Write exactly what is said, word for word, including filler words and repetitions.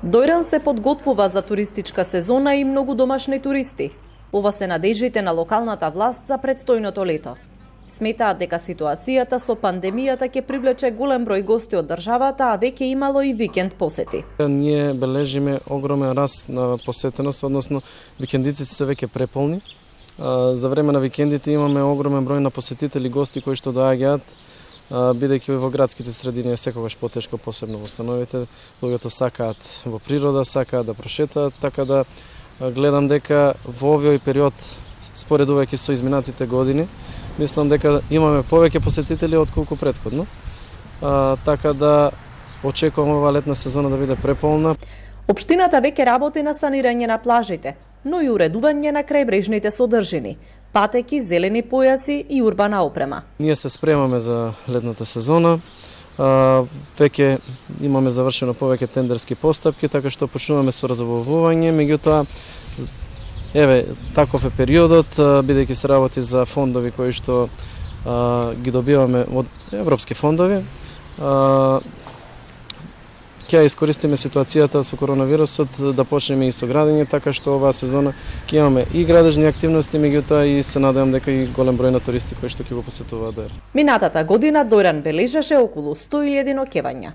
Дојран се подготвува за туристичка сезона и многу домашни туристи. Ова се надеждите на локалната власт за предстојното лето. Сметаат дека ситуацијата со пандемијата ќе привлече голем број гости од државата, а веќе имало и викенд посети. Ние бележиме огромен раст на посетеност, односно викендиците се веќе преполни. За време на викендите имаме огромен број на посетители, гости кои што доаѓаат, бидејќи во градските средини е секогаш потешко, посебно во становите. Луѓето сакаат во природа, сакаат да прошетаат, така да гледам дека во овој период, споредувајќи со изминатите години, мислам дека имаме повеќе посетители отколку претходно. А, така да очекувам оваа летна сезона да биде преполна. Општината веќе работи на санирање на плажите, но и уредување на крајбрежните содржини, патеки, зелени појаси и урбана опрема. Ние се спремаме за летната сезона. А, веќе имаме завршено повеќе тендерски постапки, така што почнуваме со разобувување, меѓутоа еве таков е периодот, бидејќи се работи за фондови кои што а, ги добиваме од европски фондови. А, ќе искористиме ситуацијата со коронавирусот да почнеме и со градење, така што оваа сезона ќе имаме и градежни активности, меѓутоа и се надевам дека и голем број на туристи кои што ќе го посетуваат Дојран. Минатата година Дојран бележеше околу сто илјади ноќевања.